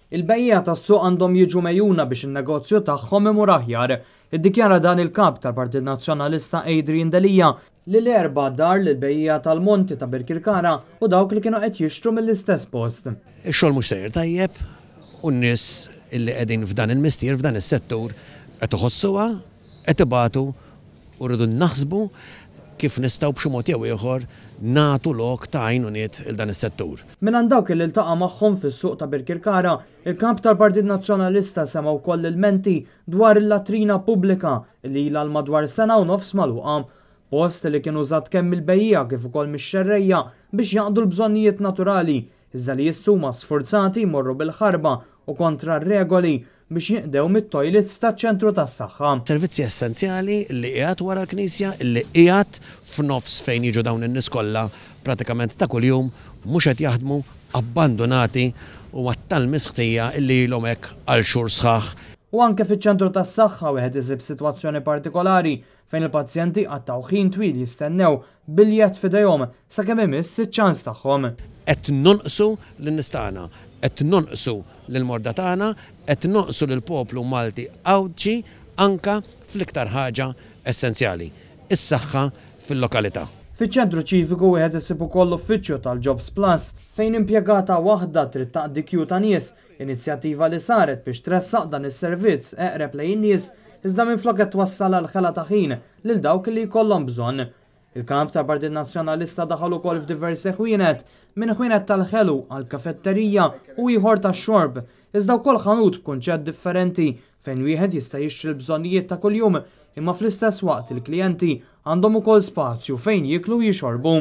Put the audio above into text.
Il-bejjiegħa tas-suq għandhom jiġu megħjuna biex in-negozju tagħhom imur aħjar. Iddikjara dan il-Kap tal-Partit Nazzjonalista Adrian Delia li l-Erbgħa dar lill-bejjiegħa tal-Monti ta' Birkirkara u dawk li kienu qed jixtru mill-istess post. Ix-xogħol mhux sejjer tajjeb u n-nies li qegħdin f'dan il-mistier, f'dan is-settur qed iħossuha, qed ibatu u rridu naħsbu kif nistgħu b'xi mod jew ieħor nagħtu lok ta' għajnuniet 'il dan is-settur. Mingħand dawk li ltaqa' magħhom fis-suq ta' Birkirkara, il-Kap tal-Partit Nazzjonalista sema' wkoll ilmenti dwar il-latrina pubblika li ilha għal madwar sena u nofs magħluqa. Post li kien użat kemm mill-bejjiegħa kif ukoll mix-xerrejja biex jaqdu l-bżonnijiet naturali, iżda li issa huma sfurzati jmorru bil-ħarba u kontra r-regoli biex jinqdew mit-toilets taċ-ċentru tas-saħħa. Servizzi essenzjali li qiegħed wara l-knisja, li qiegħed f'nofs fejn jiġu dawn in-nies kollha pratikament ta' kuljum, mhux qed jaħdmu, abbandunati u għat-tal-misħtija li ilhom hekk għal xhur sħaħ. U anke fiċ-ċentru tas-saħħa wieħed isib sitwazzjoni partikolari fejn il-pazjenti jqattgħu ħin twil jistennew bil-jedd f'idejhom sakemm imiss iċ-ċans tagħhom. Qed nonqsu lin-nies tagħna, qed nonqsu lill-morda tagħna, qed nonqsu lill-poplu Malti Għawdxi anke fl-iktar ħaġa essenzjali, is-saħħa fil-lokalità. Fiċ-Ċentru Ċiviku wieħed isib ukoll l-uffiċċju tal-Jobs Plus fejn impjegata waħda trid taqdi kju ta' nies Inizjattiva li saret biex tressaq dan is-servizz eqreb lejn in-nies iżda minflok qed twassal għal ħela ta' ħin lil dawk li jkollhom bżonn. Il-Kap tal-Partit Nazzjonalista daħal ukoll f'diversi ħwienet, minn ħwienet tal-ħelu għal kafetterija u ieħor tax-xorb, iżda wkoll ħanut b'kunċett differenti fejn wieħed jista' jixtri l-bżonnijiet ta' kuljum imma fl-istess waqt il-klijenti għandhom ukoll spazju fejn jieklu u jixorbu.